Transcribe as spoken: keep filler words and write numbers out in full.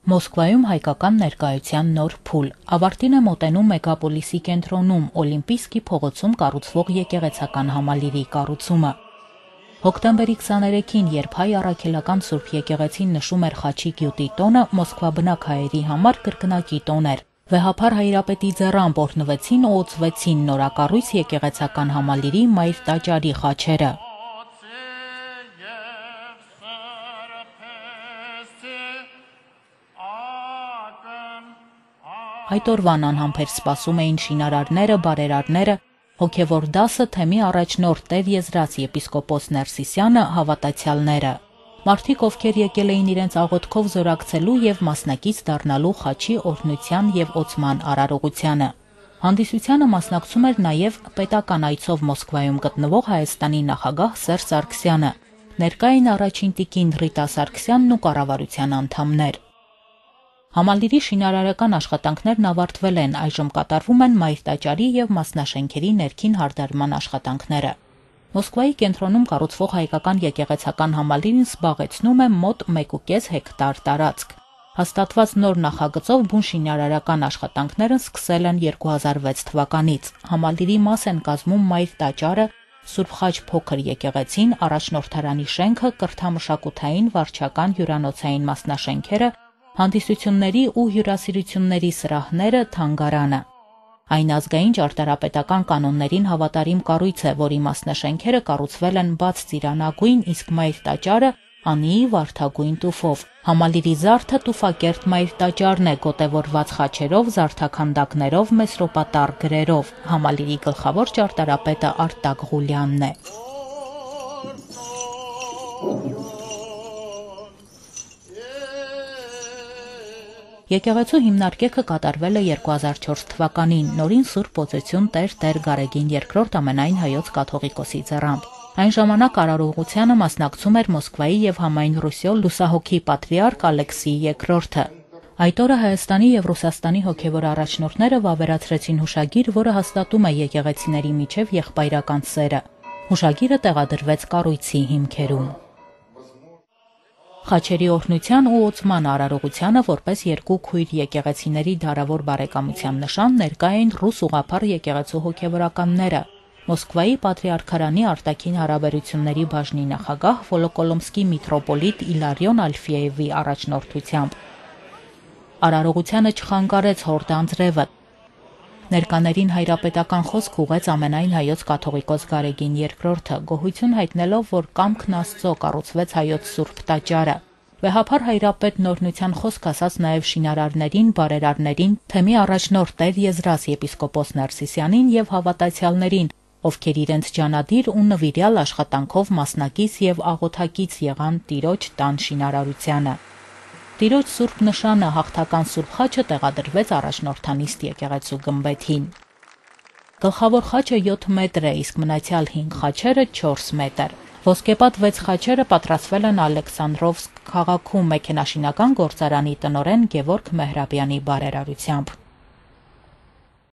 Մոսկվայում հայկական ներկայության նոր փուլ ավարտին է մոտենում մեգապոլիսի կենտրոնում Օլիմպիիսկի փողոցում կառուցվող եկեղեցական համալիրի կառուցումը։ Հոկտեմբերի քսաներեքին, երբ հայ առաքելական Սուրբ եկեղեցին նշում էր Խաչի գյուտի տոնը, մոսկվաբնակ հայերի համար կրկնակի տոն էր։ Վեհափար Հայրապետի ձեռամբ օրհնվեցին ու օծվեցին նորակառույց եկեղեցական համալիրի մայր տաճարի խաչերը։ Այդ օրվան անհամբեր սպասում էին շինարարները, բարերարները, հոգևոր դասը, թեմի առաջնորդ Տեր Եզրած եպիսկոպոս Ներսիսյանը, հավատացյալները։ Մարդիկ, ովքեր եկել էին իրենց աղոթքով զորակցելու եւ մասնակից դառնալու Խաչի օրհնության եւ օծման արարողությանը։ Հանդիսությանը մասնակցում էր նաեւ պետական այցով Մոսկվայում գտնվող Հայաստանի նախագահ Սերժ Սարգսյանը։ Ներկա էին առաջին տիկին Ռիտա Սարգսյանն ու կառավարության անդամներ։ Համալիրի շինարարական աշխատանքներն ավարտվել են, այժմ կատարվում են մայր տաճարի եւ մասնաշենքերի ներքին հարդարման աշխատանքները։ Մոսկվայի կենտրոնում կառուցվող հայկական եկեղեցական համալիրն զբաղեցնում է մոտ մեկ ու կես հեկտար տարածք։ Հաստատված նոր նախագծով բուն շինարարական աշխատանքներն սկսել են երկու հազար վեց թվականից։ Համալիրի մաս են կազմում մայր տաճարը, Սուրբ Խաչ փոքր եկեղեցին, առաջնորդարանի շենքը, կրթամշակութային, վարչական, հյուրանոցային մասնաշենքերը, հանդիսությունների ու հյուրասիրությունների սրահները, թանգարանը։ Այն ազգային ճարտարապետական կանոններին հավատարիմ կառույց է, որի մասնաշենքերը կառուցվել են բաց ծիրանագույն, իսկ մայր տաճարը անիի վարդագույն տուֆով։ Համալիրի զարդը տուֆակերտ մայր տաճարն է, գոտևորված խաչերով, զարդաքանդակներով, մեսրոպատառ գրերով։ Համալիրի գլխավոր ճարտարապետը Արտակ Ղուլյանն է։ Եկեղեցու հիմնարկեքը կատարվել է երկու հազար չորս թվականին, նորին Սուրբ Օծություն Տեր Տեր Գարեգին երկրորդ ամենայն հայոց կաթողիկոսի ձեռամբ։ Այն ժամանակ արարողությանը մասնակցում էր Մոսկվայի եւ համայն Ռուսիո լուսահոգի պատրիարք Ալեքսիյ երկրորդը։ Այդ օրը Հայաստանի եւ Ռուսաստանի հոգեվոր առաջնորդները վավերացրեցին հուշագիր, որը հաստատում է եկեղեցիների միջև եղբայրական սերը։ Հուշագիրը տեղադրվեց կառույցի հիմքերում։ Խաչերի օրհնության ու օծման արարողությանը որպես երկու քույր եկեղեցիների դարավոր բարեկամության նշան ներկա էին ռուս ուղղափառ եկեղեցու հոգևորականները։ Մոսկվայի պատրիարքարանի արտաքին հարաբերությունների բաժնի նախագահ Վոլոկոլոմսկի միթրոպոլիտ Իլարիոն Ալֆիևի առաջնորդությամբ։ Արարողությանը չխանգարեց հորդ անձրևը։ Ներկաներին հայրապետական խոսք ուղեց ամենայն հայոց կաթողիկոս Գարեգին երկրորդը, գոհություն հայտնելով, որ կամքն Աստծո կառուցվեց հայոց Սուրբ տաճարը։ Վեհափար Հայրապետն օրհնության խոսք ասաց նաև շինարարներին, բարերարներին, թեմի առաջնորդ Տեր Եզրած եպիսկոպոս Ներսիսյանին եւ հավատացյալներին, ովքեր իրենց ջանադիր ու նվիրյալ աշխատանքով մասնակից եւ աղոթակից եղան Տիրոջ տան շինարարությանը։ Տիրոջ Սուրբ նշանը հաղթական Սուրբ խաչը տեղադրվեց առաջնորդանիստ եկեղեցու գմբեթին։ Գլխավոր խաչը յոթ մետր է, իսկ մնացյալ հինգ խաչերը չորս մետր։ Ոսկեպատ վեց խաչերը պատրաստվել են Ալեքսանդրովսկ քաղաքում մեքենաշինական գործարանի տնօրեն Գևորգ Մեհրաբյանի բարերարությամբ։